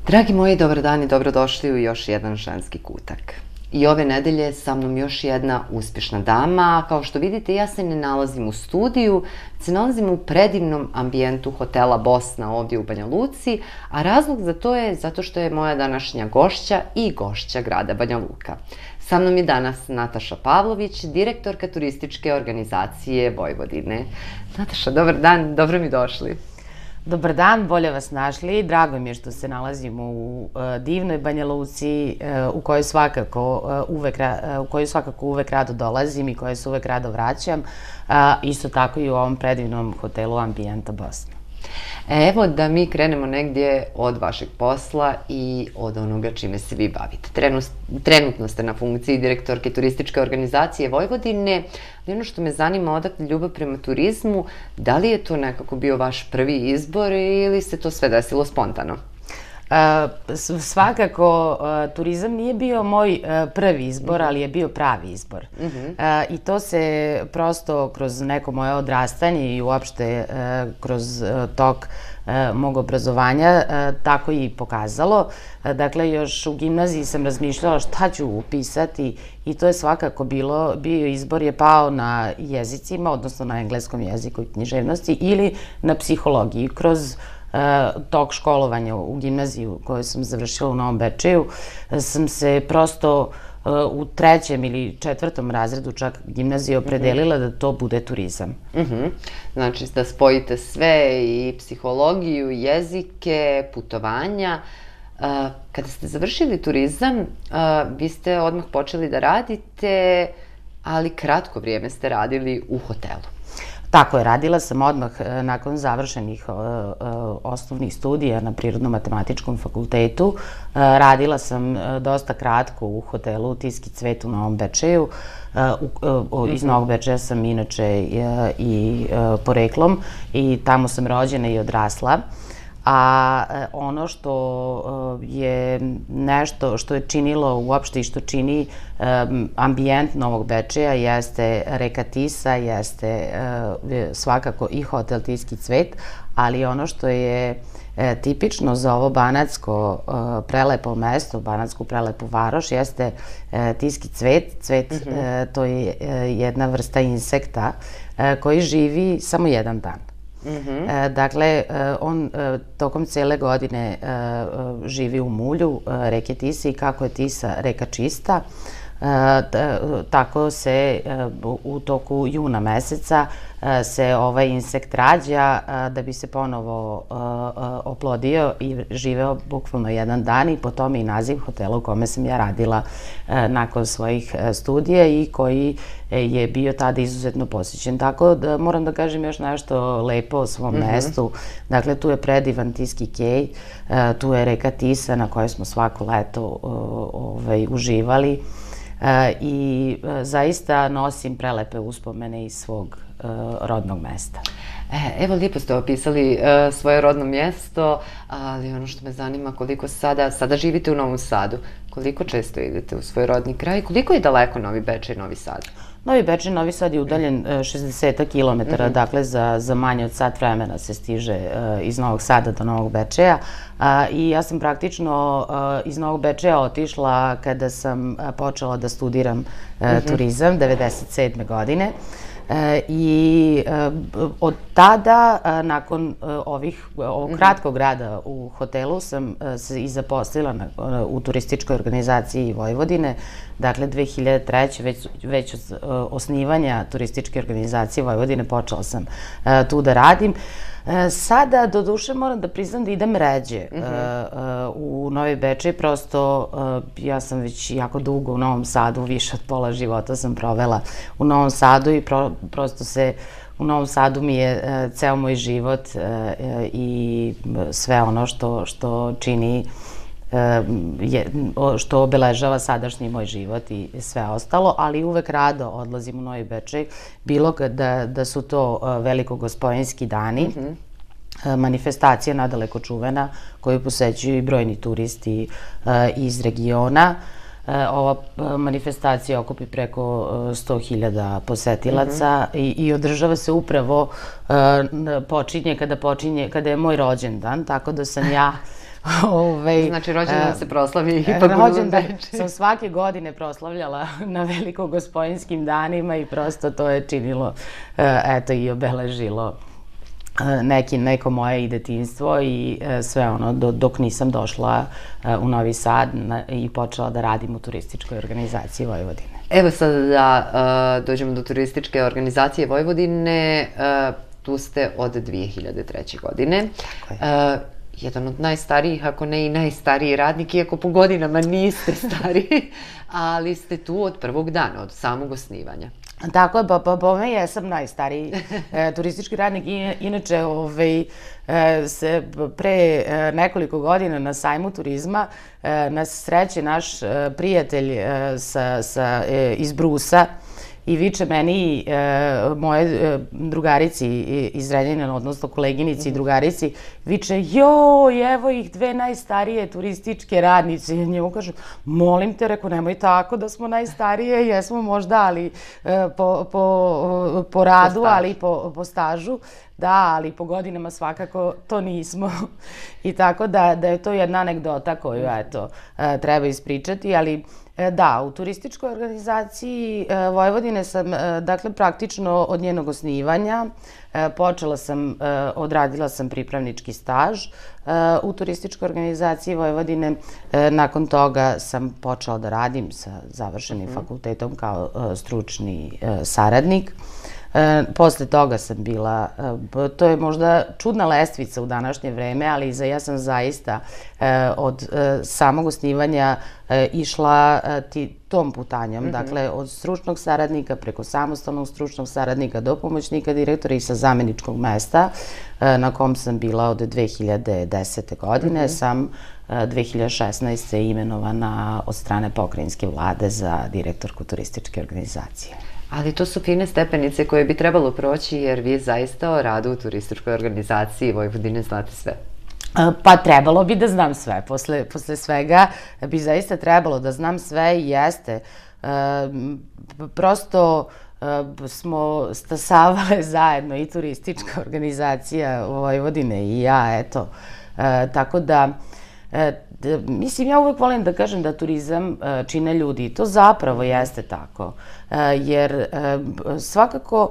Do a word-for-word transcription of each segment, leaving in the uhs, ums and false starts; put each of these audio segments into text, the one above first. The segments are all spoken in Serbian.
Dragi moji, dobar dan i dobrodošli u još jedan ženski kutak. I ove nedelje sa mnom još jedna uspješna dama. Kao što vidite, ja se ne nalazim u studiju, se nalazim u predivnom ambijentu hotela Bosna ovdje u Banja Luci, a razlog za to je zato što je moja današnja gošća i gošća grada Banja Luka. Sa mnom je danas Nataša Pavlović, direktorka turističke organizacije Vojvodine. Nataša, dobar dan, dobro mi došli. Dobar dan, bolje vas našli. Drago mi je što se nalazimo u divnoj Banja Luci u kojoj svakako uvek, u kojoj svakako uvek rado dolazim i kojoj se uvek rado vraćam. Isto tako i u ovom predivnom hotelu Ambijenta Bosna. Evo da mi krenemo negdje od vašeg posla i od onoga čime se vi bavite. Trenutno ste na funkciji direktorke turističke organizacije Vojvodine, ali ono što me zanima, odakle ljubav prema turizmu, da li je to nekako bio vaš prvi izbor ili se to sve desilo spontano? Svakako, turizam nije bio moj prvi izbor, ali je bio pravi izbor. I to se prosto kroz neko moje odrastanje i uopšte kroz tok mog obrazovanja tako i pokazalo. Dakle, još u gimnaziji sam razmišljala šta ću upisati i to je svakako bilo, bio izbor je pao na jezicima, odnosno na engleskom jeziku i književnosti ili na psihologiji. Kroz tok školovanja u gimnaziju koju sam završila u Novom Bečeju sam se prosto u trećem ili četvrtom razredu čak gimnazije opredelila da to bude turizam. Znači da spojite sve, i psihologiju, jezike, putovanja. Kada ste završili turizam, vi ste odmah počeli da radite, ali kratko vrijeme ste radili u hotelu. Tako je, radila sam odmah nakon završenih osnovnih studija na Prirodno-matematičkom fakultetu. Radila sam dosta kratko u hotelu Tiski cvet u Novom Bečeju. Iz Novog Bečeja sam inače i poreklom i tamo sam rođena i odrasla. A ono što je nešto što je činilo uopšte i što čini ambijent Novog Bečeja jeste reka Tisa, jeste svakako i hotel Tiski cvet, ali ono što je tipično za ovo banatsko prelepo mesto, banatsku prelepu varoš, jeste Tiski cvet. Cvet to je jedna vrsta insekta koji živi samo jedan dan. Dakle, on tokom cele godine živi u mulju reke Tise i kako je Tisa reka čista, tako se u toku juna meseca se ovaj insekt rađa da bi se ponovo oplodio i živeo bukvalno jedan dan, i po tome i naziv hotela u kome sam ja radila nakon svojih studija i koji je bio tada izuzetno posjećen. Tako da moram da kažem još nešto lepo o svom mestu. Dakle, tu je predivan Tiski kej, tu je reka Tisa na kojoj smo svako leto uživali i zaista nosim prelepe uspomene iz svog rodnog mesta. Evo, lijepo ste opisali svoje rodno mjesto, ali ono što me zanima, koliko sada, sada živite u Novom Sadu, koliko često idete u svoj rodni kraj, koliko je daleko Novi Bečej i Novi Sad? Novi Bečej, Novi Sad je udaljen šezdeset kilometara, dakle za manje od sat vremena se stiže iz Novog Sada do Novog Bečeja. I ja sam praktično iz Novog Bečeja otišla kada sam počela da studiram turizam, devedeset sedme godine. I od tada, nakon ovog kratkog rada u hotelu, sam se i zaposlila u turističkoj organizaciji Vojvodine. Dakle, dve hiljade treće. već od osnivanja turističke organizacije Vojvodine počela sam tu da radim. Sada, do duše, moram da priznam da idem ređe u Novi Bečej. Prosto, ja sam već jako dugo u Novom Sadu, više od pola života sam provela u Novom Sadu i prosto se u Novom Sadu mi je ceo moj život i sve ono što čini, što obeležava sadašnji moj život i sve ostalo, ali uvek rado odlazim u Novi Bečej, bilo da su to velikogospojinski dani, manifestacija nadaleko čuvena koju posećuju i brojni turisti iz regiona. Ova manifestacija okupi preko sto hiljada posetilaca i održava se upravo, počinje kada počinje, kada je moj rođendan, tako da sam ja Znači, rođendan se proslavi ipak u Novom Bečeju. Sam svake godine proslavljala na velikogospojnskim danima i prosto to je činilo, eto, i obeležilo neki, neko moje detinjstvo i sve ono dok nisam došla u Novi Sad i počela da radim u turističkoj organizaciji Vojvodine. Evo sad da dođemo do turističke organizacije Vojvodine, tu ste od dve hiljade treće. godine. Jedan od najstarijih, ako ne i najstariji radnik, iako po godinama niste stariji, ali ste tu od prvog dana, od samog osnivanja. Tako je, pa po me jesam najstariji turistički radnik. Inače, se pre nekoliko godina na sajmu turizma nas sreće naš prijatelj iz Brusa i viče meni, moje drugarici iz Renjanina, odnosno koleginici i drugarici, viče, joj, evo ih dve najstarije turističke radnice. I njemu kažem, molim te, reko, nemoj tako da smo najstarije, jesmo možda, ali po radu, ali po stažu. Da, ali po godinama svakako to nismo. I tako da je to jedna anegdota koju, eto, treba ispričati, ali da, u turističkoj organizaciji Vojvodine sam, dakle, praktično od njenog osnivanja počela sam, odradila sam pripravnički staž u turističkoj organizaciji Vojvodine. Nakon toga sam počela da radim sa završenim fakultetom kao stručni saradnik. Posle toga sam bila, to je možda čudna lestvica u današnje vreme, ali ja sam zaista od samog osnivanja išla tom putanjom, dakle od stručnog saradnika preko samostalnog stručnog saradnika do pomoćnika direktora i sa zameničkog mesta na kom sam bila od dve hiljade desete. godine, sam dve hiljade šesnaeste. imenovana od strane pokrajinske vlade za direktorku turističke organizacije. Ali to su fine stepenice koje bi trebalo proći, jer vi zaista o radu u turističkoj organizaciji Vojvodine znate sve. Pa trebalo bi da znam sve. Posle svega bi zaista trebalo da znam sve i jeste. Prosto smo stasavale zajedno i turistička organizacija Vojvodine i ja, eto. Tako da, mislim, ja uvek volim da kažem da turizam čine ljudi i to zapravo jeste tako. Jer svakako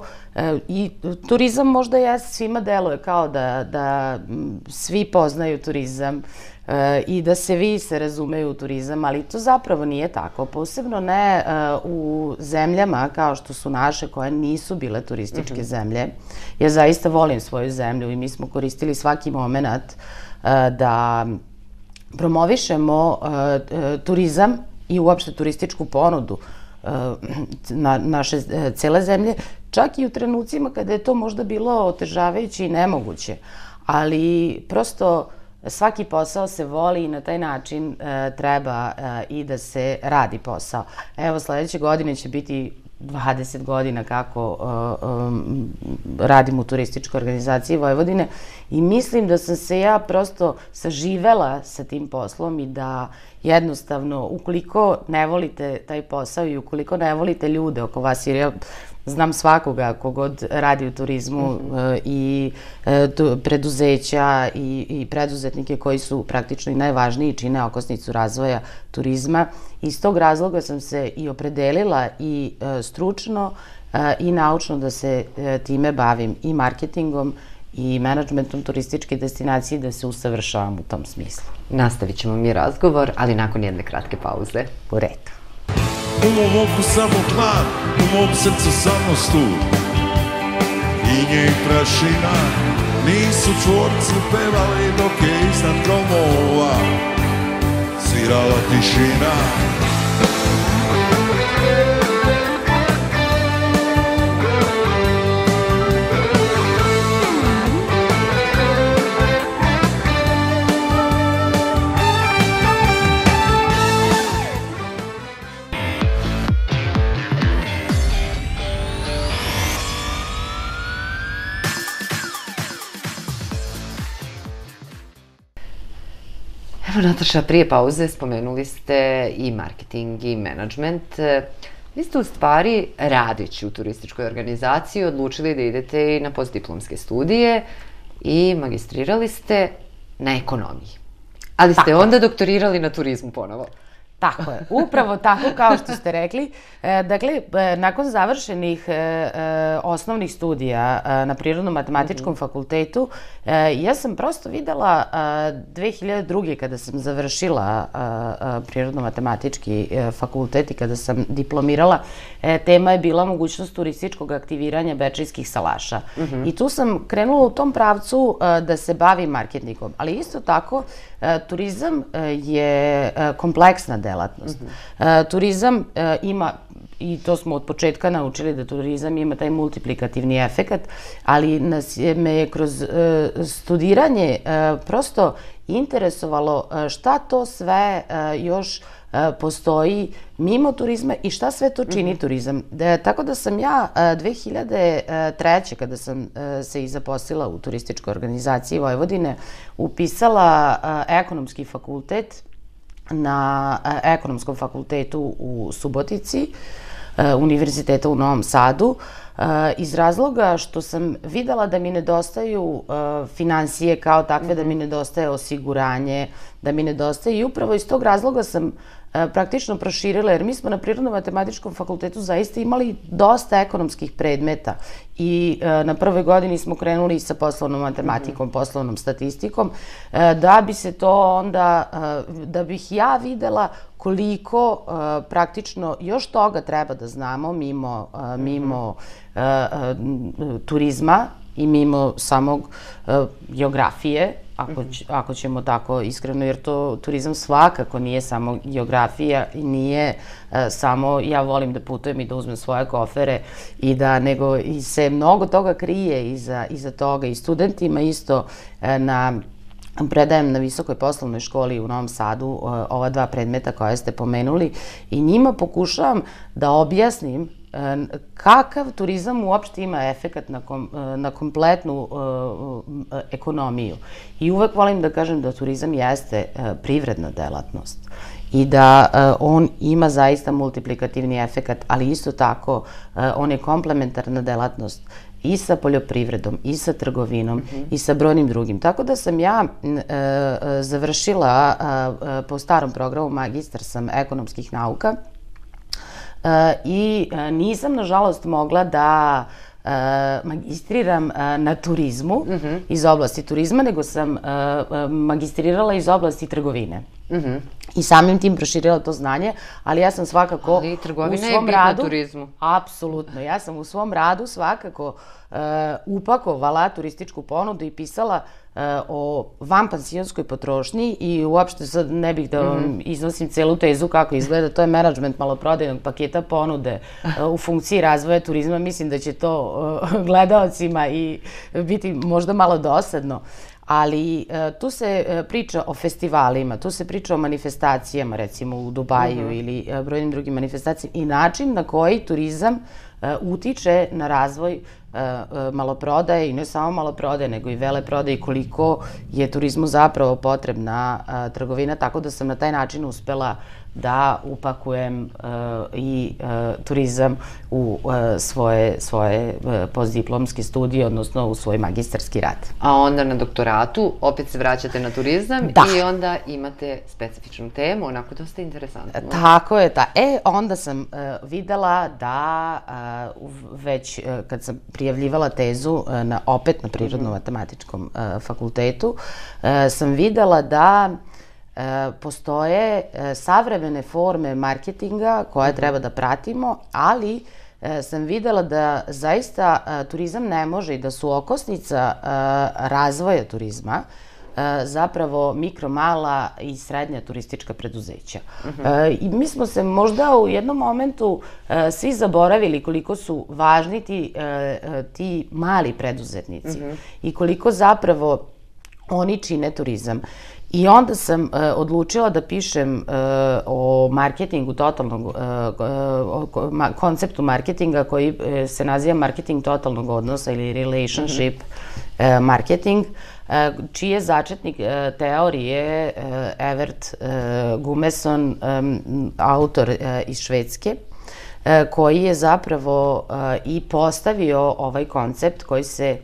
i turizam možda jeste, svima deluje kao da svi poznaju turizam i da se vi se razumeju u turizam, ali to zapravo nije tako. Posebno ne u zemljama kao što su naše, koje nisu bile turističke zemlje. Ja zaista volim svoju zemlju i mi smo koristili svaki moment da promovišemo turizam i uopšte turističku ponudu naše cele zemlje, čak i u trenucima kada je to možda bilo otežavajuće i nemoguće. Ali prosto svaki posao se voli i na taj način treba i da se radi posao. Evo, sledeće godine će biti dvadeset godina kako radim u turističkoj organizaciji Vojvodine i mislim da sam se ja prosto saživela sa tim poslom i da jednostavno, ukoliko ne volite taj posao i ukoliko ne volite ljude oko vas, jer ja znam svakoga kogod radi u turizmu i preduzeća i preduzetnike koji su praktično i najvažniji, čine okosnicu razvoja turizma. Iz tog razloga sam se i opredelila i stručno i naučno da se time bavim i marketingom i menadžmentom turističke destinacije, da se usavršavam u tom smislu. Nastavit ćemo mi razgovor, ali nakon jedne kratke pauze. U redu. U mom oku samo hlad, u mom srcu samo stud. Inje i prašina nisu čvorcu pevali dok je iznad gromova svirala tišina. Evo, Nataša, prije pauze spomenuli ste i marketing i menadžment. Vi ste u stvari, radeći u turističkoj organizaciji, odlučili da idete i na postdiplomske studije i magistrirali ste na ekonomiji. Ali ste onda doktorirali na turizmu ponovo. Tako je, upravo tako kao što ste rekli. Dakle, nakon završenih osnovnih studija na Prirodno-matematičkom fakultetu, ja sam prosto videla dve hiljade druge. kada sam završila Prirodno-matematički fakultet i kada sam diplomirala, tema je bila mogućnost turističkog aktiviranja bečejskih salaša. I tu sam krenula u tom pravcu da se bavim marketingom, ali isto tako turizam je kompleksna delatnost. Turizam ima, i to smo od početka naučili da turizam ima taj multiplikativni efekat, ali nas me je kroz studiranje prosto interesovalo šta to sve još postoji mimo turizma i šta sve to čini turizam. Tako da sam ja dve hiljade treće. kada sam se i zaposlila u turističkoj organizaciji Vojvodine, upisala ekonomski fakultet na Ekonomskom fakultetu u Subotici, Univerziteta u Novom Sadu, iz razloga što sam videla da mi nedostaju finansije kao takve, da mi nedostaje osiguranje, da mi nedostaje, i upravo iz tog razloga sam praktično proširila, jer mi smo na Prirodno-matematičkom fakultetu zaista imali dosta ekonomskih predmeta i na prvoj godini smo krenuli sa poslovnom matematikom, poslovnom statistikom, da bi se to onda, da bih ja videla koliko praktično još toga treba da znamo mimo turizma i mimo samog geografije, ako ćemo tako iskreno, jer to turizam svakako nije samo geografija i nije samo ja volim da putujem i da uzmem svoje kofere i da, nego se mnogo toga krije iza toga. I studentima isto na predajem na Visokoj poslovnoj školi u Novom Sadu ova dva predmeta koje ste pomenuli i njima pokušavam da objasnim kakav turizam uopšte ima efekat na kompletnu ekonomiju. I uvek volim da kažem da turizam jeste privredna delatnost i da on ima zaista multiplikativni efekat, ali isto tako on je komplementarna delatnost i sa poljoprivredom, i sa trgovinom, i sa brojnim drugim. Tako da sam ja završila po starom programu, magistar sam ekonomskih nauka, i nisam, nažalost, mogla da magistriram na turizmu, iz oblasti turizma, nego sam magistrirala iz oblasti trgovine. I samim tim proširila to znanje, ali ja sam svakako u svom radu... Ali trgovina je bitna turizmu. Apsolutno. Ja sam u svom radu svakako upakovala turističku ponudu i pisala o vanpansionskoj potrošnji i uopšte sad ne bih da vam iznosim celu tezu kako izgleda, to je menadžment maloprodajnog paketa ponude u funkciji razvoja turizma. Mislim da će to gledaocima i biti možda malo dosadno. Ali tu se priča o festivalima, tu se priča o manifestacijama, recimo u Dubaju ili brojnim drugim manifestacijama, i način na koji turizam utiče na razvoj maloprodaje, i ne samo maloprodaje, nego i veleprodaje, i koliko je turizmu zapravo potrebna trgovina, tako da sam na taj način uspela da upakujem i turizam u svoje postdiplomske studije, odnosno u svoj magistarski rad. A onda na doktoratu opet se vraćate na turizam i onda imate specifičnu temu, onako dosta interesantno. Tako je. E, onda sam videla da već kad sam prijavljivala tezu opet na Prirodno-matematičkom fakultetu, sam videla da postoje savremene forme marketinga koje treba da pratimo, ali sam videla da zaista turizam ne može i da su okosnica razvoja turizma zapravo mikro, mala i srednja turistička preduzeća. I mi smo se možda u jednom momentu svi zaboravili koliko su važni ti mali preduzetnici i koliko zapravo oni čine turizam. I onda sam odlučila da pišem o marketingu totalnog, konceptu marketinga koji se naziva marketing totalnog odnosa ili relationship marketing, čiji je začetnik teorije Evert Gumeson, autor iz Švedske, koji je zapravo i postavio ovaj koncept koji se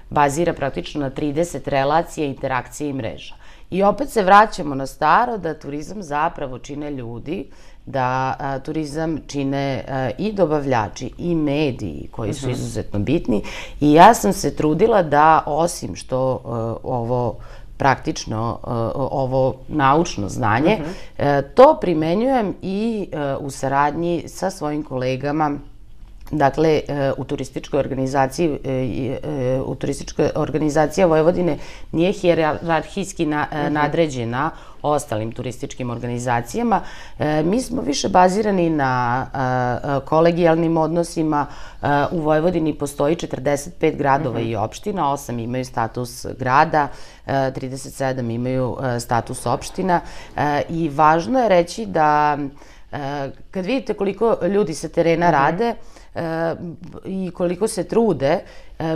bazira praktično na trideset relacija, interakcije i mreža. I opet se vraćamo na staro da turizam zapravo čine ljudi, da turizam čine i dobavljači i mediji koji su izuzetno bitni i ja sam se trudila da osim što ovo praktično, ovo naučno znanje, to primenjujem i u saradnji sa svojim kolegama. Dakle, u turističkoj organizaciji, u turističkoj organizacija Vojvodine nije hijerarhijski nadređena ostalim turističkim organizacijama. Mi smo više bazirani na kolegijalnim odnosima. U Vojvodini postoji četrdeset pet gradova i opština, osam imaju status grada, trideset sedam imaju status opština i važno je reći da kad vidite koliko ljudi sa terena rade i koliko se trude,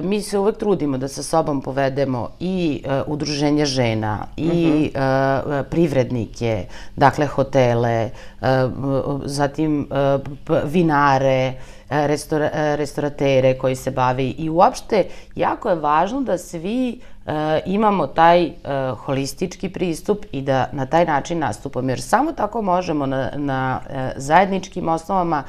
mi se uvek trudimo da sa sobom povedemo i udruženja žena i privrednike, dakle hotele, zatim vinare, restoratere koji se bave i uopšte jako je važno da svi imamo taj holistički pristup i da na taj način nastupamo, jer samo tako možemo na zajedničkim osnovama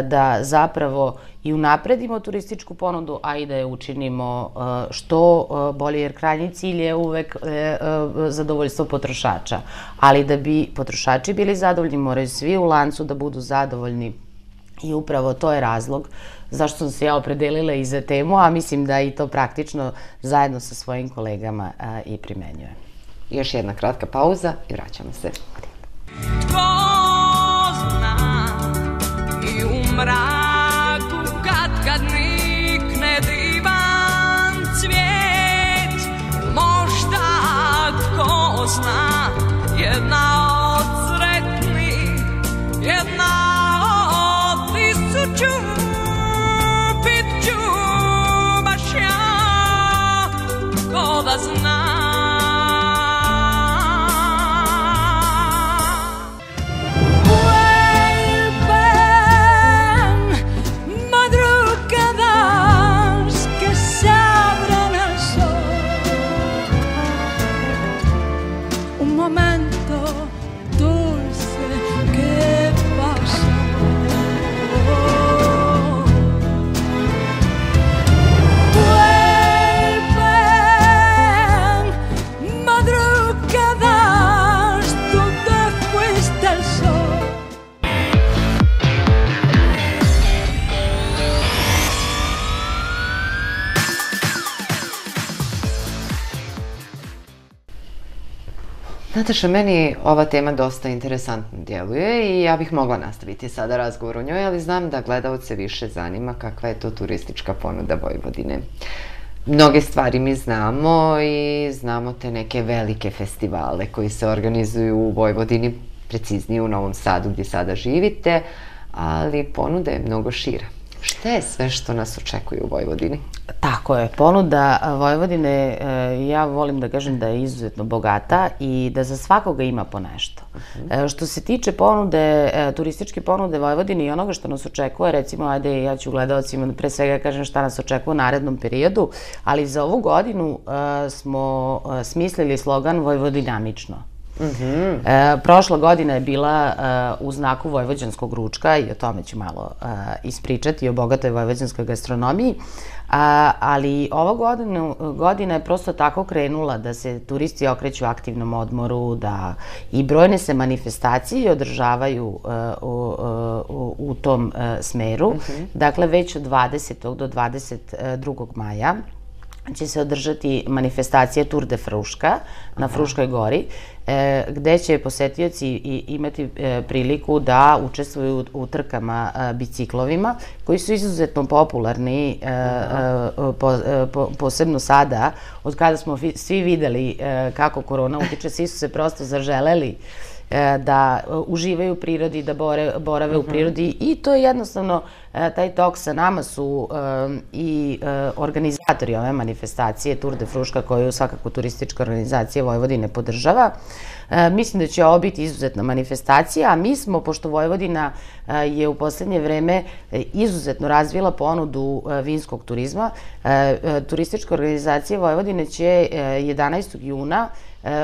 da zapravo i unapredimo turističku ponudu, a i da je učinimo što bolje, jer krajnji cilj je uvek zadovoljstvo potrošača. Ali da bi potrošači bili zadovoljni, moraju svi u lancu da budu zadovoljni i upravo to je razlog zašto sam se ja opredelila i za temu, a mislim da i to praktično zajedno sa svojim kolegama i primenjujem. Još jedna kratka pauza i vraćamo se. Tko zna i u mraku kad kad nikne divan cvijet, možda tko zna jedna od sretnih, jedna od tisuću, pit ću baš ja, ko da zna. Nataša, meni ova tema dosta interesantno djeluje i ja bih mogla nastaviti sada razgovor o njoj, ali znam da gledalce više zanima kakva je to turistička ponuda Vojvodine. Mnoge stvari mi znamo i znamo te neke velike festivale koji se organizuju u Vojvodini, preciznije u Novom Sadu gdje sada živite, ali ponuda je mnogo šira. Šta je sve što nas očekuje u Vojvodini? Tako je, ponuda Vojvodine, ja volim da kažem da je izuzetno bogata i da za svakoga ima po nešto. Što se tiče ponude, turističke ponude Vojvodine i onoga što nas očekuje, recimo, ajde, ja ću gledalcima pre svega kažem šta nas očekuje u narednom periodu, ali za ovu godinu smo smislili slogan Vojvodinamično. Prošla godina je bila u znaku vojvođanskog ručka i o tome ću malo ispričati, o bogatoj vojvođanskoj gastronomiji, ali ova godina je prosto tako krenula da se turisti okreću aktivnom odmoru, da i brojne se manifestacije održavaju u tom smeru. Dakle, već od dvadesetog do dvadeset drugog maja će se održati manifestacija Tour de Fruška na Fruškoj gori, gde će posetioci imati priliku da učestvuju u trkama biciklovima, koji su izuzetno popularni, posebno sada, od kada smo svi videli kako korona utiče, svi su se prosto zaželeli da uživaju u prirodi, da borave u prirodi i to je jednostavno, taj tok sa nama su i organizatori ove manifestacije Tour de Fruška, koju svakako turistička organizacija Vojvodine podržava. Mislim da će ovo biti izuzetna manifestacija, a mi smo, pošto Vojvodina je u poslednje vreme izuzetno razvila ponudu vinskog turizma, turistička organizacija Vojvodine će jedanaestog juna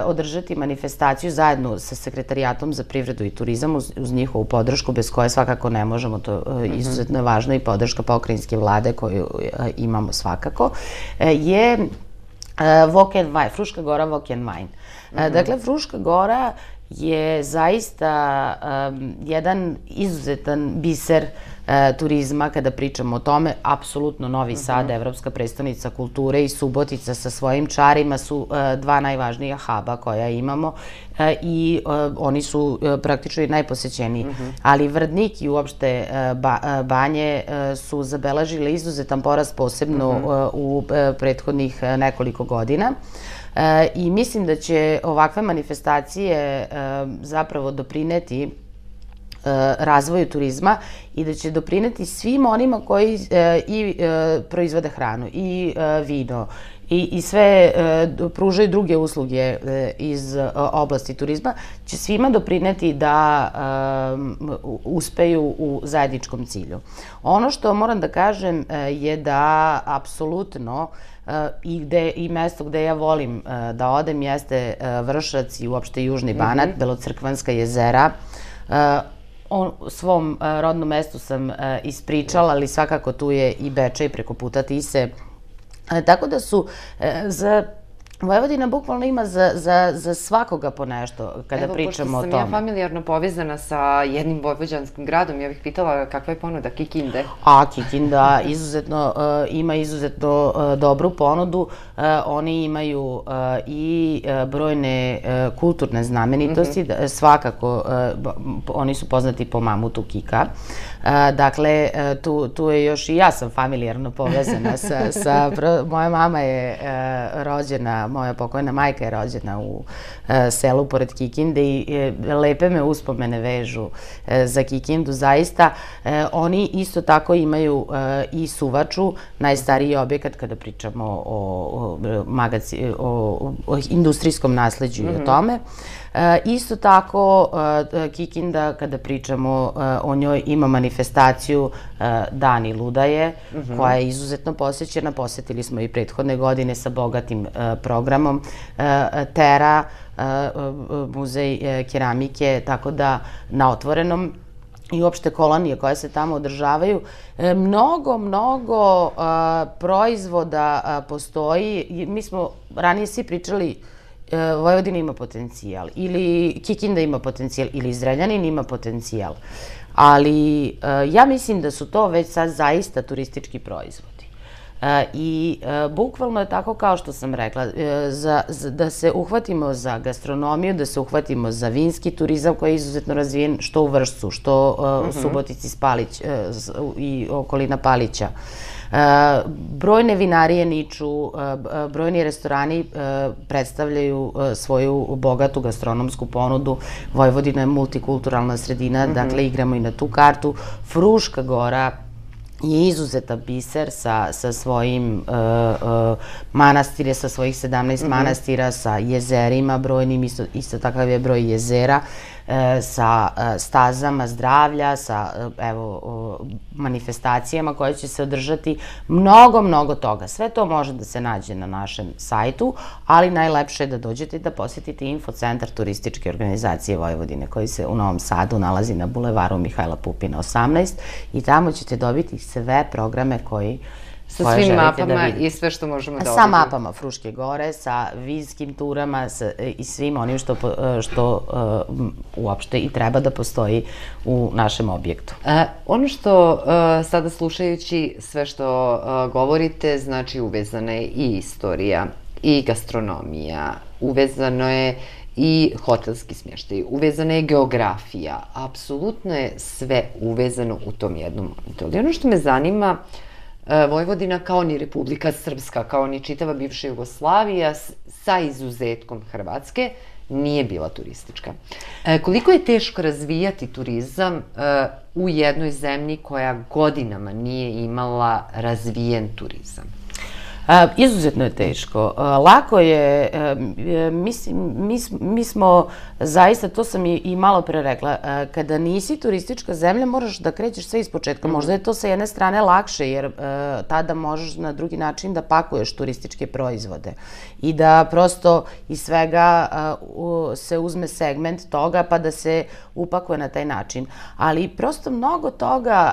održati manifestaciju zajedno sa Sekretarijatom za privredu i turizam uz, uz njihovu podršku, bez koje svakako ne možemo, to izuzetno je važno i podrška pokrajinske vlade koju imamo svakako, je Wok and Wine, Fruška Gora Wok and Wine. Dakle, Fruška Gora je zaista um, jedan izuzetan biser uh, turizma kada pričamo o tome. Apsolutno Novi Sad, evropska prestonica kulture, i Subotica sa svojim čarima su uh, dva najvažnija huba koja imamo uh, i uh, oni su uh, praktično i najposećeniji. Ali Vrdnik i uopšte uh, ba, uh, Banje uh, su zabeležile izuzetan porast, posebno uh, u uh, prethodnih uh, nekoliko godina. E, I mislim da će ovakve manifestacije e, zapravo doprineti e, razvoju turizma i da će doprineti svim onima koji e, i e, proizvode hranu, i e, vino, i, i sve e, pružaju druge usluge e, iz e, oblasti turizma, će svima doprineti da e, uspeju u zajedničkom cilju. Ono što moram da kažem e, je da apsolutno i, gde, i mesto gde ja volim da odem jeste Vršac i uopšte Južni Banat, mm-hmm. Belocrkvanska jezera. O svom rodnom mestu sam ispričala, ali svakako tu je i Bečej preko puta Tise. Tako da su za Vojvodina bukvalno ima za, za, za svakoga po nešto kada Evo, pričamo o tome. Evo, pošto sam ja familijarno povezana sa jednim vojvođanskim gradom, ja bih pitala kakva je ponuda Kikinde? A, Kikinda izuzetno, uh, ima izuzetno uh, dobru ponudu. Uh, oni imaju uh, i uh, brojne uh, kulturne znamenitosti. Mm-hmm. Svakako, uh, oni su poznati po mamutu Kika. Uh, dakle, uh, tu, tu je još i ja sam familijarno povezana sa... sa pro, moja mama je uh, rođena, moja pokojna majka je rođena u uh, selu pored Kikinde i uh, lepe me uspomene vežu uh, za Kikindu. Zaista, uh, oni isto tako imaju uh, i Suvaču, najstariji objekat kada pričamo o, o, magaci, o, o industrijskom nasleđu mm-hmm. i o tome. E, isto tako, e, Kikinda, kada pričamo e, o njoj, ima manifestaciju e, Dani Ludaje, mm-hmm. koja je izuzetno posećena. Posetili smo i prethodne godine sa bogatim e, programom. E, Tera, e, muzej e, keramike, tako da na otvorenom i uopšte kolonije koje se tamo održavaju. E, mnogo, mnogo a, proizvoda a, postoji. Mi smo ranije svi pričali Vojvodina ima potencijal, ili Kikinda ima potencijal, ili Zrenjanin ima potencijal. Ali ja mislim da su to već sad zaista turistički proizvodi. I bukvalno je tako kao što sam rekla, za, za, da se uhvatimo za gastronomiju, da se uhvatimo za vinski turizam koji je izuzetno razvijen, što u Vršcu, što u mm-hmm. Subotici Spalić, i okolina Palića. Uh, brojne vinarije niču, uh, brojni restorani uh, predstavljaju uh, svoju bogatu gastronomsku ponudu. Vojvodina je multikulturalna sredina, mm-hmm. dakle igramo i na tu kartu. Fruška Gora je izuzetan biser sa, sa svojim uh, uh, manastire, sa svojih sedamnaest mm-hmm. manastira, sa jezerima brojnim, isto, isto takav je broj jezera, uh, sa uh, stazama zdravlja, sa uh, evo, uh, manifestacijama koje će se održati. Mnogo, mnogo toga. Sve to može da se nađe na našem sajtu, ali najlepše je da dođete i da posjetite Infocentar turističke organizacije Vojvodine, koji se u Novom Sadu nalazi na bulevaru Mihajla Pupina osamnaest, i tamo ćete dobiti sve programe koji sa svim mapama i sve što možemo da sa odredimo. mapama Fruške Gore, sa vinskim turama sa, i svim onim što, što uh, uopšte i treba da postoji u našem objektu. E, ono što uh, sada slušajući sve što uh, govorite, znači uvezana je i istorija, i gastronomija, uvezano je i hotelski smještaj, uvezana je geografija, apsolutno je sve uvezano u tom jednom momentu. Ali ono što me zanima, Vojvodina kao ni Republika Srpska, kao ni čitava bivša Jugoslavija, sa izuzetkom Hrvatske, nije bila turistička. E, koliko je teško razvijati turizam e, u jednoj zemlji koja godinama nije imala razvijen turizam? Izuzetno je teško. Lako je, mi smo zaista, to sam i malo pre rekla, kada nisi turistička zemlja moraš da krećeš sve iz početka. Možda je to sa jedne strane lakše jer tada možeš na drugi način da pakuješ turističke proizvode i da prosto iz svega se uzme segment toga pa da se upakuje na taj način. Ali prosto mnogo toga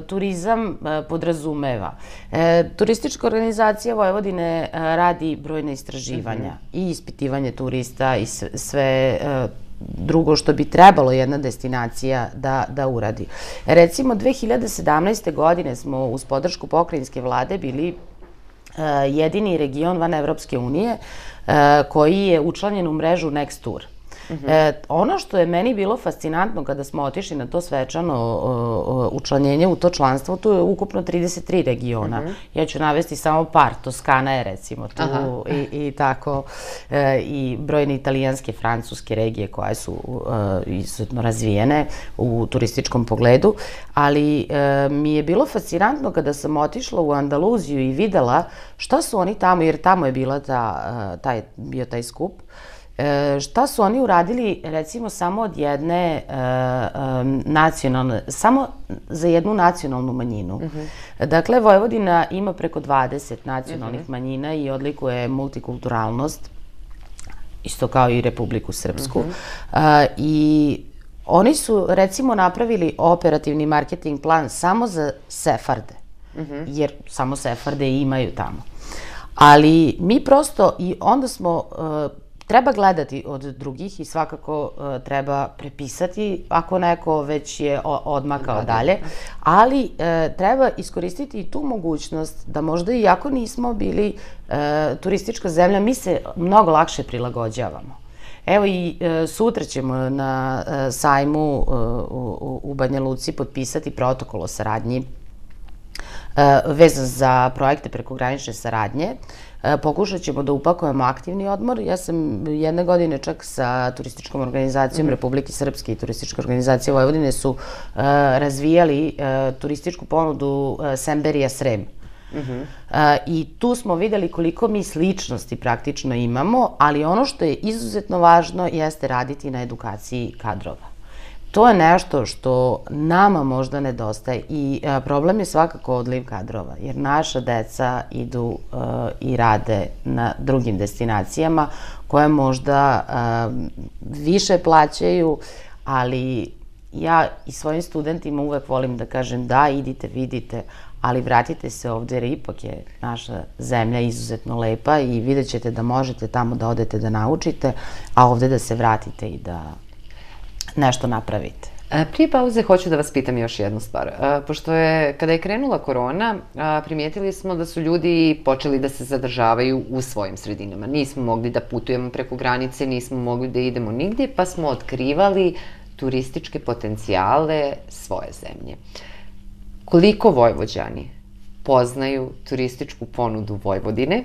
turizam podrazumeva. Turistička organizacija Vojvodine radi brojne istraživanja i ispitivanje turista i sve drugo što bi trebalo jedna destinacija da uradi. Recimo, dve hiljade sedamnaeste. godine smo uz podršku pokrajinske vlade bili jedini region van Evropske unije koji je učlanjen u mrežu Next Tour. Ono što je meni bilo fascinantno kada smo otišli na to svečano učlanjenje u to članstvo, tu je ukupno trideset tri regiona. Ja ću navesti samo par, Toskana je recimo tu i tako, i brojne italijanske, francuske regije koje su izuzetno razvijene u turističkom pogledu, ali mi je bilo fascinantno kada sam otišla u Andaluziju i videla šta su oni tamo, jer tamo je bio taj skup, šta su oni uradili recimo samo od jedne nacionalne, samo za jednu nacionalnu manjinu. Dakle, Vojvodina ima preko dvadeset nacionalnih manjina i odlikuje multikulturalnost, isto kao i Republiku Srpsku. I oni su recimo napravili operativni marketing plan samo za Sefarde, jer samo Sefarde imaju tamo. Ali mi prosto, i onda smo treba gledati od drugih i svakako treba prepisati ako neko već je odmakao dalje, ali treba iskoristiti i tu mogućnost da možda i ako nismo bili turistička zemlja, mi se mnogo lakše prilagođavamo. Evo i sutra ćemo na sajmu u Banja Luci potpisati protokol o saradnji vezan za projekte prekogranične saradnje. Pokušat ćemo da upakujemo aktivni odmor. Ja sam jedne godine čak sa turističkom organizacijom Republike Srpske i turistička organizacija Vojvodine su razvijali turističku ponudu Semberija Srem. I tu smo videli koliko mi sličnosti praktično imamo, ali ono što je izuzetno važno jeste raditi na edukaciji kadrova. To je nešto što nama možda nedostaje i problem je svakako odliv kadrova, jer naša deca idu i rade na drugim destinacijama koje možda više plaćaju, ali ja i svojim studentima uvek volim da kažem da, idite, vidite, ali vratite se ovde jer ipak je naša zemlja izuzetno lepa i vidjet ćete da možete tamo da odete da naučite, a ovde da se vratite i da nešto napravite. Prije pauze hoću da vas pitam još jednu stvar. Pošto je, kada je krenula korona, primijetili smo da su ljudi počeli da se zadržavaju u svojim sredinama. Nismo mogli da putujemo preko granice, nismo mogli da idemo nigdje, pa smo otkrivali turističke potencijale svoje zemlje. Koliko Vojvođani poznaju turističku ponudu Vojvodine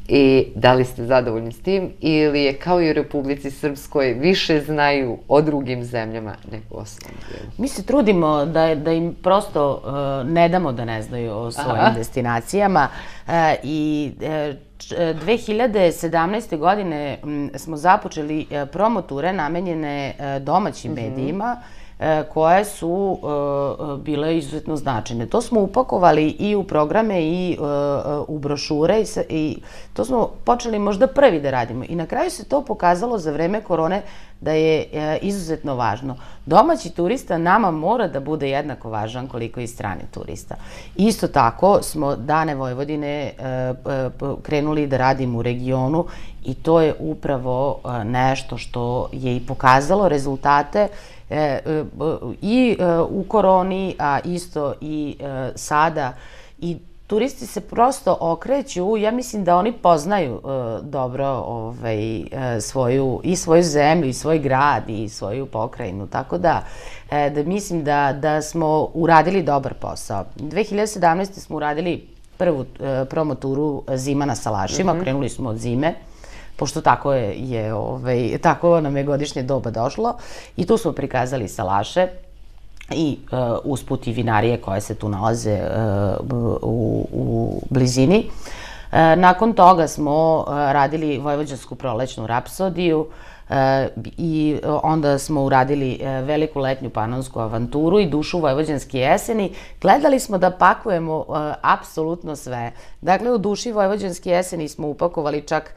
i da li ste zadovoljni s tim ili je kao i u Republici Srpskoj više znaju o drugim zemljama nego o svom dijelu? Mi se trudimo da im prosto ne damo da ne znaju o svojim destinacijama i dve hiljade sedamnaeste. godine smo započeli promoture namenjene domaćim medijima koje su bile izuzetno značajne. To smo upakovali i u programe i u brošure i to smo počeli možda prvi da radimo. I na kraju se to pokazalo za vreme korone da je izuzetno važno. Domaći turista nama mora da bude jednako važan koliko i strani turista. Isto tako smo Dane Vojvodine krenuli da radimo u regionu i to je upravo nešto što je i pokazalo rezultate i u koroni, a isto i sada. I turisti se prosto okreću, ja mislim da oni poznaju dobro i svoju zemlju, i svoj grad, i svoju pokrajinu. Tako da mislim da smo uradili dobar posao. dve hiljade sedamnaeste. smo uradili prvu promoturu Zima na Salašima, krenuli smo od zime, pošto tako nam je godišnje doba došlo i tu smo prikazali salaše. i usput i vinarije koje se tu nalaze u, u blizini. Nakon toga smo radili Vojvođansku prolećnu rapsodiju i onda smo uradili Veliku letnju panonsku avanturu i Dušu vojvođanske jeseni. Gledali smo da pakujemo apsolutno sve. Dakle, u Duši vojvođanske jeseni smo upakovali čak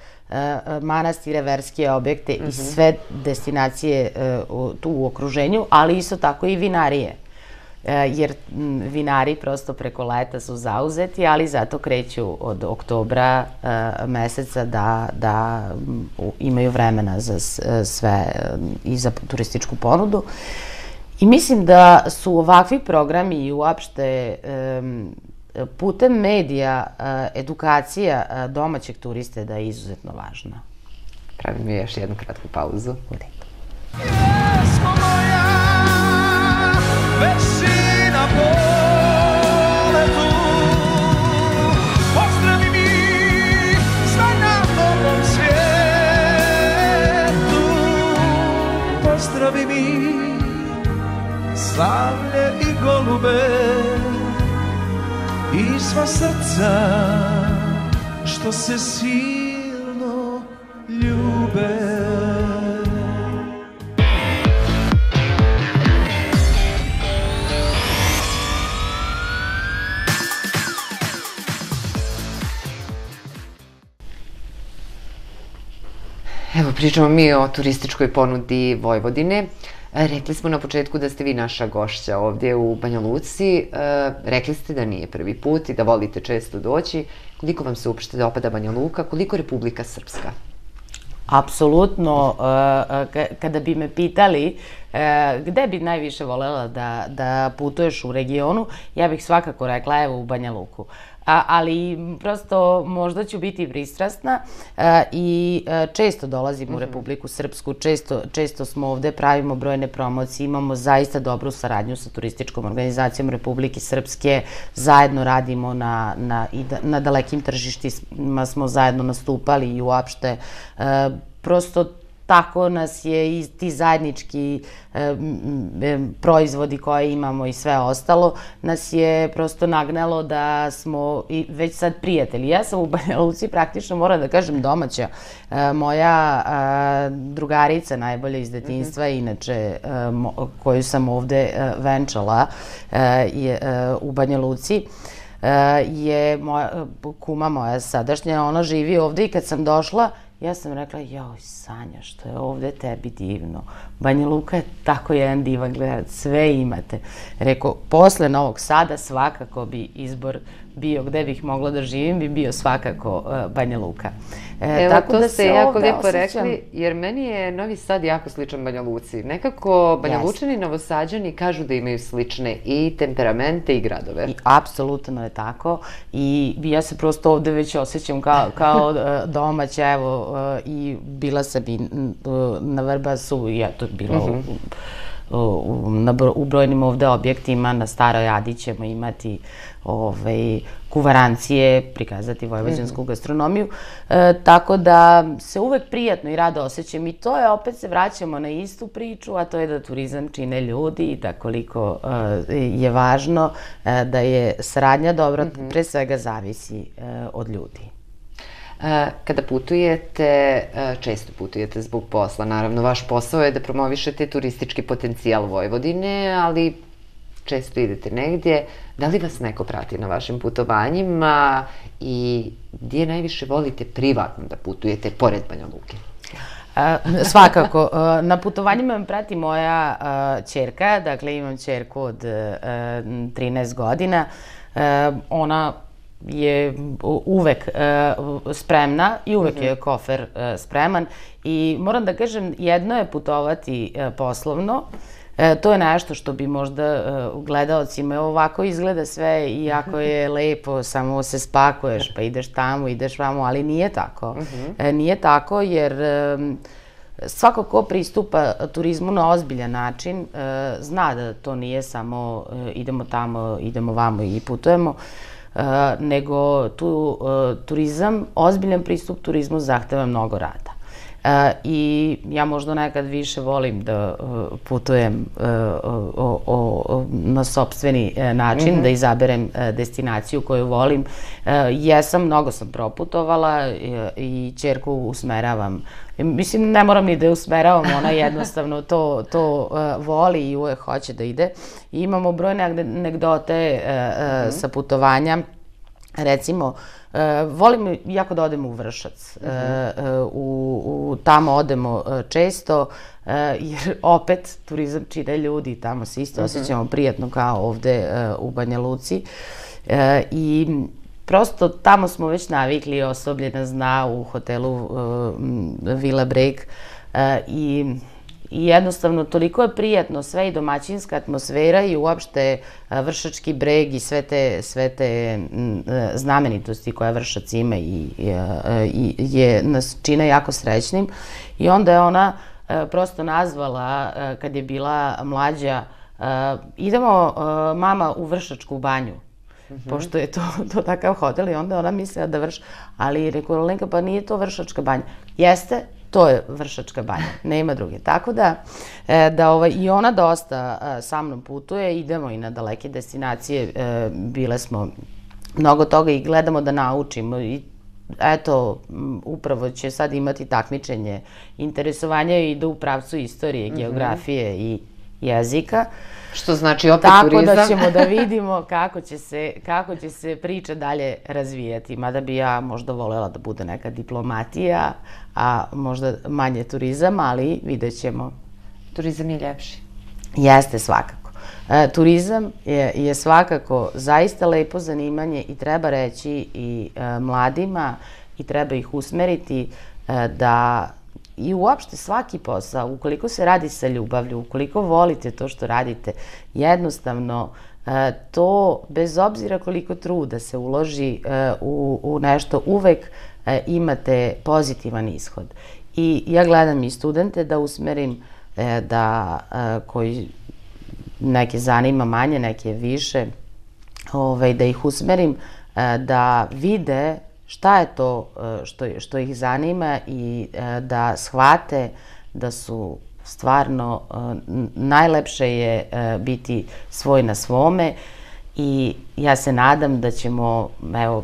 manastire, verske objekte i sve destinacije tu u okruženju, ali isto tako i vinarije. Jer vinari prosto preko leta su zauzeti, ali zato kreću od oktobra meseca da, da imaju vremena za sve i za turističku ponudu. I mislim da su ovakvi programi i uopšte putem medija edukacija domaćeg turiste da je izuzetno važna. Pravim je još jednu kratku pauzu. Jesmo moja već na poletu, pozdravi mi sve na dobrom svijetu, pozdravi mi slavlje i golube i sva srca što se silno ljube. Evo, pričamo mi o turističkoj ponudi Vojvodine. Rekli smo na početku da ste vi naša gošća ovdje u Banja Luci. Rekli ste da nije prvi put i da volite često doći. Koliko vam se uopšte dopada Banja Luka, koliko Republika Srpska? Apsolutno. Kada bi me pitali gde bi najviše volela da, da putuješ u regionu, ja bih svakako rekla evo u Banja Luku. A, ali prosto možda ću biti pristrasna i često dolazim u Republiku Srpsku, često, često smo ovde, pravimo brojne promocije, imamo zaista dobru saradnju sa turističkom organizacijom Republike Srpske, zajedno radimo na, na, na dalekim tržištima, smo zajedno nastupali i uopšte prosto tako nas je i ti zajednički proizvodi koje imamo i sve ostalo, nas je prosto nagnalo da smo i već sad prijatelji. Ja sam u Banja Luci praktično, moram da kažem, domaća. Moja drugarica najbolja iz detinjstva, inače koju sam ovde venčala u Banja Luci, je kuma moja sadašnja, ona živi ovde i kad sam došla, ja sam rekla, joj, Sanja, što je ovde tebi divno. Banja Luka je tako jedan divan grad, sve imate. Rekao, posle Novog Sada svakako bi izbor bio gde bih mogla da živim, bi bio svakako Banja Luka. Evo, to ste jako lijepo rekli, jer meni je Novi Sad jako sličan Banja Luci. Nekako Banja Lučani i Novosađani kažu da imaju slične i temperamente i gradove. Apsolutno je tako i ja se prosto ovde već osjećam kao domaća, evo, i bila sam i na Vrbasu, i eto, bilo u brojnim ovde objektima, na Staroj Adi ćemo imati kuvarancije, prikazati vojvođansku gastronomiju, tako da se uvek prijatno i rado osjećam i to je, opet se vraćamo na istu priču, a to je da turizam čine ljudi i da koliko je važno da je saradnja dobra, pre svega zavisi od ljudi. Kada putujete, često putujete zbog posla, naravno, vaš posao je da promovišete turistički potencijal Vojvodine, ali često idete negdje. Da li vas neko prati na vašim putovanjima i gdje najviše volite privatno da putujete pored Banja Luke? Svakako. Na putovanjima me prati moja ćerka, dakle imam ćerku od trinaest godina. Ona je uvek spremna i uvek je kofer spreman i moram da kažem, jedno je putovati poslovno, to je nešto što bi možda gledaocima, ovako izgleda sve i jako je lepo, samo se spakuješ pa ideš tamo, ideš vamo, ali nije tako. Nije tako jer svako ko pristupa turizmu na ozbiljan način zna da to nije samo idemo tamo, idemo vamo i putujemo, nego tu turizam, ozbiljan pristup turizmu zahteva mnogo rada. I ja možda nekad više volim da putujem na sopstveni način, da izaberem destinaciju koju volim. Jesam, mnogo sam proputovala i ćerku usmeravam. Mislim, ne moram ni da je usmeravam, ona jednostavno to voli i uvek hoće da ide. I imamo brojne anegdote sa putovanja. Recimo, volim jako da odemo u Vršac. Tamo odemo često, jer opet turizam čine ljudi, tamo se isto osjećamo prijatno kao ovde u Banja Luci. I prosto tamo smo već navikli, osoblje nas zna u hotelu Villa Breg i I jednostavno, toliko je prijatno sve i domaćinska atmosfera i uopšte Vršački breg i sve te znamenitosti koje Vršac ima i nas čine jako srećnim. I onda je ona prosto nazvala, kad je bila mlađa, idemo mama u Vršačku banju, pošto je to takav hotel i onda ona mislila da Vrš... Ali rekao, Lenka, pa nije to Vršačka banja. Jeste, to je Vršačka banja, nema druge. Tako da i ona dosta sa mnom putuje, idemo i na daleke destinacije, bile smo mnogo toga i gledamo da naučimo. I eto, upravo će sad imati takmičenje interesovanja i ide u pravcu istorije, geografije i jezika. Što znači opet turizam. Tako da ćemo da vidimo kako će se priča dalje razvijati. Mada bi ja možda voljela da bude neka diplomatija, a možda manje turizam, ali vidjet ćemo. Turizam je ljepši. Jeste, svakako. Turizam je svakako zaista lepo zanimanje i treba reći i mladima i treba ih usmeriti da i uopšte svaki posao, ukoliko se radi sa ljubavlju, ukoliko volite to što radite, jednostavno to, bez obzira koliko truda se uloži u nešto, uvek imate pozitivan ishod. I ja gledam i studente da usmerim, da koji neke zanima manje, neke više, da ih usmerim, da vide šta je to što ih zanima i da shvate da su stvarno, najlepše je biti svoj na svome i ja se nadam da ćemo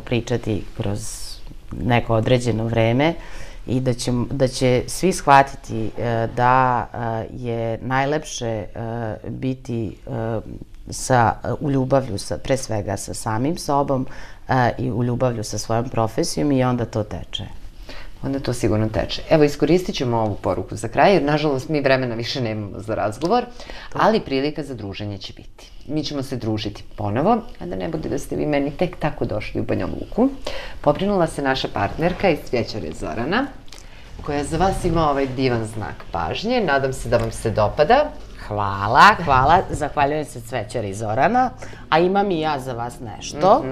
pričati kroz neko određeno vreme i da će svi shvatiti da je najlepše biti u ljubavlju, pre svega sa samim sobom i u ljubavlju sa svojom profesijom i onda to teče. Onda to sigurno teče. Evo, iskoristit ćemo ovu poruku za kraj, jer nažalost mi vremena više nemamo za razgovor, ali prilika za druženje će biti. Mi ćemo se družiti ponovo, a da ne bude da ste vi meni tek tako došli u Banja Luku. Pobrinula se naša partnerka iz Cvećare Zorana, koja za vas ima ovaj divan znak pažnje. Nadam se da vam se dopada. Hvala, hvala. Zahvaljujem se Cvećari Zorana, a imam i ja za vas nešto.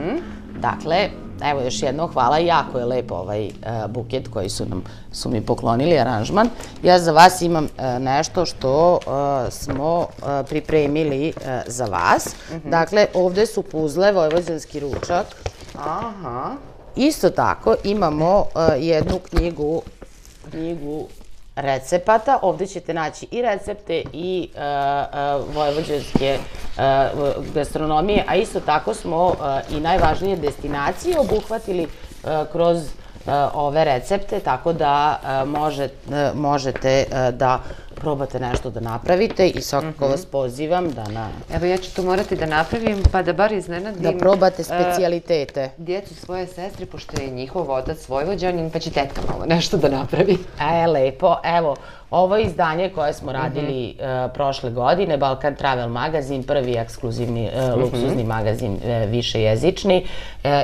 Dakle, evo još jedno hvala, jako je lepo ovaj buket koji su mi poklonili, aranžman. Ja za vas imam nešto što smo pripremili za vas. Dakle, ovde su puzle, vojvođanski ručak. Isto tako imamo jednu knjigu, knjigu recepata. Ovde ćete naći i recepte i vojvođanske gastronomije, a isto tako smo i najvažnije destinacije obuhvatili kroz ove recepte, tako da možete da probate nešto da napravite i svakako vas pozivam da na... Evo, ja ću to morati da napravim, pa da bar iznenadim... Da probate specijalitete. Djecu svoje sestre, pošto je njihov otac Vojvođanin, pa će tetka malo nešto da napravi. E, lepo. Evo, ovo je izdanje koje smo radili prošle godine, Balkan Travel magazin, prvi ekskluzivni, luksuzni magazin, višejezični,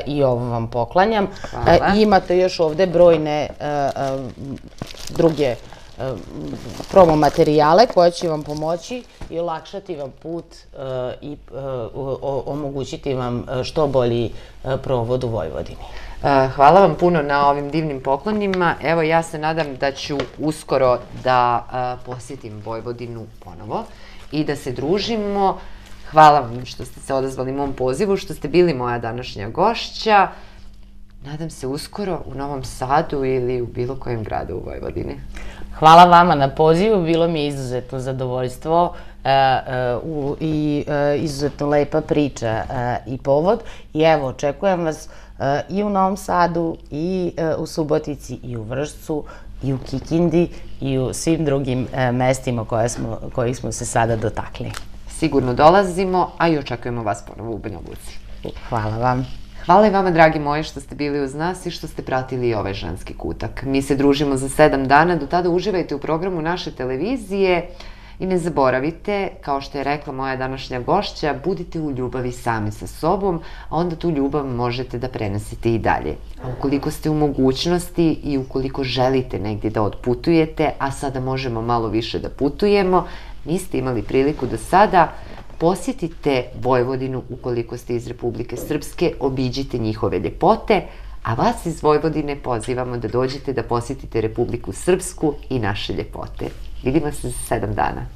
i ovo vam poklanjam. Imate još ovde brojne druge promo materijale koje će vam pomoći i olakšati vam put i omogućiti vam što bolji provod u Vojvodini. Hvala vam puno na ovim divnim poklonima. Evo, ja se nadam da ću uskoro da posjetim Vojvodinu ponovo i da se družimo. Hvala vam što ste se odazvali mom pozivu, što ste bili moja današnja gošća. Nadam se uskoro u Novom Sadu ili u bilo kojem gradu u Vojvodini. Hvala vama na pozivu, bilo mi je izuzetno zadovoljstvo i izuzetno lepa priča i povod. I evo, očekujem vas i u Novom Sadu, i u Subotici, i u Vršcu, i u Kikindi, i u svim drugim mestima kojih smo se sada dotakli. Sigurno dolazimo, a i očekujemo vas ponovo u Banja Luci. Hvala vam. Hvala i vama, dragi moji, što ste bili uz nas i što ste pratili i ovaj ženski kutak. Mi se družimo za sedam dana, do tada uživajte u programu naše televizije i ne zaboravite, kao što je rekla moja današnja gošća, budite u ljubavi sami sa sobom, a onda tu ljubav možete da prenosite i dalje. A ukoliko ste u mogućnosti i ukoliko želite negdje da odputujete, a sada možemo malo više da putujemo, niste imali priliku do sada, posjetite Vojvodinu ukoliko ste iz Republike Srpske, obiđite njihove ljepote, a vas iz Vojvodine pozivamo da dođete da posjetite Republiku Srpsku i naše ljepote. Vidimo se za sedam dana.